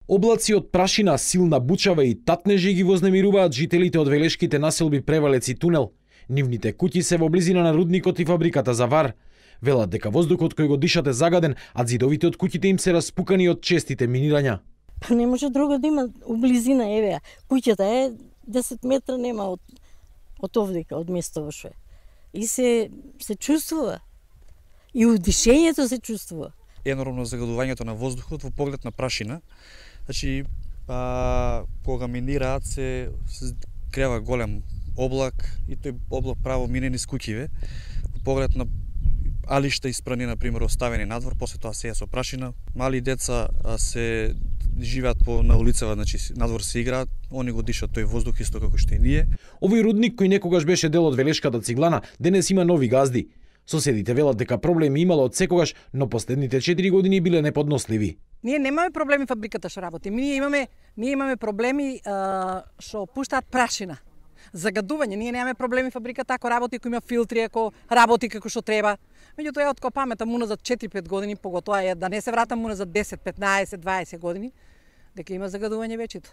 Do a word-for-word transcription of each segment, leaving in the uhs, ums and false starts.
Облаци од прашина, силна бучава и татнежи ги вознемируваат жителите од велешките населби Превалец и Тунел. Нивните куќи се во близина на рудникот и фабриката за вар. Велат дека воздухот кој го дишат е загаден, а зидовите од куќите им се распукани од честите минирања. Па не може друго да има у близина, еве. Куќата е десет метра нема од од овдека, од место во што е. И се се чувствува. И удишењето се чувствува. Енормно загадувањето на воздухот во поглед на прашина. Значи, а, кога минираат се, се крева голем облак и тој облак право мине низ куќиве. Во поглед на алишта испрани, например, оставени надвор, после тоа се е со прашина. Мали деца а, се живеат по на улицава, значи надвор се играат, они го дишат тој воздух исто како што и ние. Овој рудник кој некогаш беше дел од велешката Циглана, денес има нови газди. Соседите велат дека проблеми имало од секогаш, но последните четири години биле неподносливи. Ние немаме проблеми фабриката што работи. Ние имаме ние имаме проблеми а, што пуштаат прашина. Загадување, ние немаме проблеми фабриката ако работи, ако има филтри, ако работи како што треба. Меѓутоа ја од кој памета муна за четири-пет години, поготоа е да не се вратам муна за десет, петнаесет, дваесет години, дека има загадување веќето.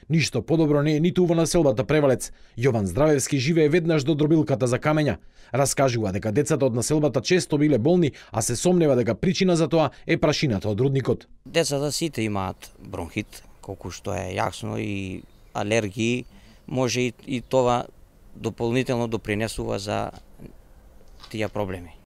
Ништо подобро не е ниту во населбата Превалец. Јован Здравевски живее веднаш до дробилката за камења. Раскажува дека децата од населбата често биле болни, а се сомнева дека причина за тоа е прашината од рудникот. Децата сите имаат бронхит, колку што е јасно, и алергии, може и, и тоа дополнително допринесува за тие проблеми.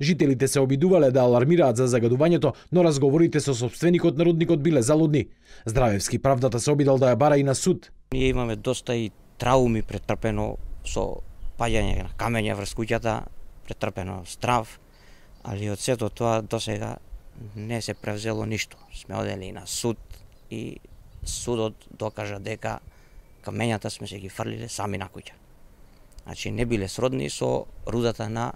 Жителите се обидувале да алармираат за загадувањето, но разговорите со собственикот на рудникот биле залудни. Здравевски правдата се обидал да ја бара и на суд. Ние имаме доста и трауми претрпено со паѓање на камења врз куќата, претрпено страв, али од сето тоа досега не се превзело ништо. Сме одели на суд и судот докажа дека камењата сме се ги фрлиле сами на куќа. Значи не биле сродни со рудата на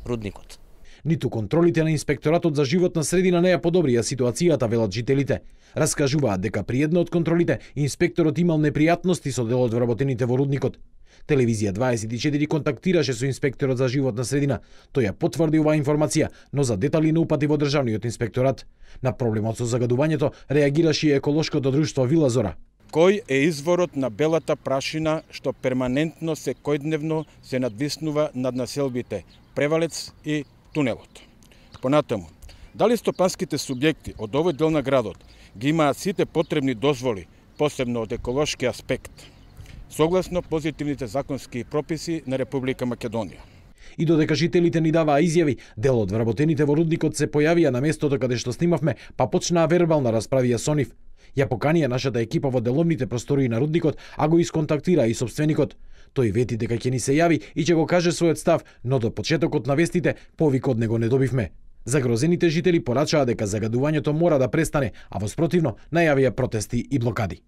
рудникот. Ниту контролите на инспекторатот за животна средина не ја подобрија ситуацијата, велат жителите. Раскажуваат дека при една од контролите инспекторот имал непријатности со дел од вработените во рудникот. Телевизија дваесет и четири контактираше со инспекторот за животна средина. Тој ја потврди оваа информација, но за детали не упати во државниот инспекторат. На проблемот со загадувањето реагираше и еколошкото друштво Вила Зора. Кој е изворот на белата прашина што перманентно секојдневно се надвиснува над населбите Превалец и Тунелот? Понатаму, дали стопанските субјекти од овој дел на градот ги имаат сите потребни дозволи, посебно од еколошки аспект, согласно позитивните законски прописи на Република Македонија? И додека жителите ни даваа изјави, дел од вработените во рудникот се појавија на местото каде што снимавме, па почнаа вербална расправија со нив. Ја поканија нашата екипа во деловните простории на рудникот, а го исконтактира и собственикот. Тој вети дека ќе ни се јави и ќе го каже својот став, но до почетокот на вестите повик од него не добивме. Загрозените жители порачаа дека загадувањето мора да престане, а во спротивно најавија протести и блокади.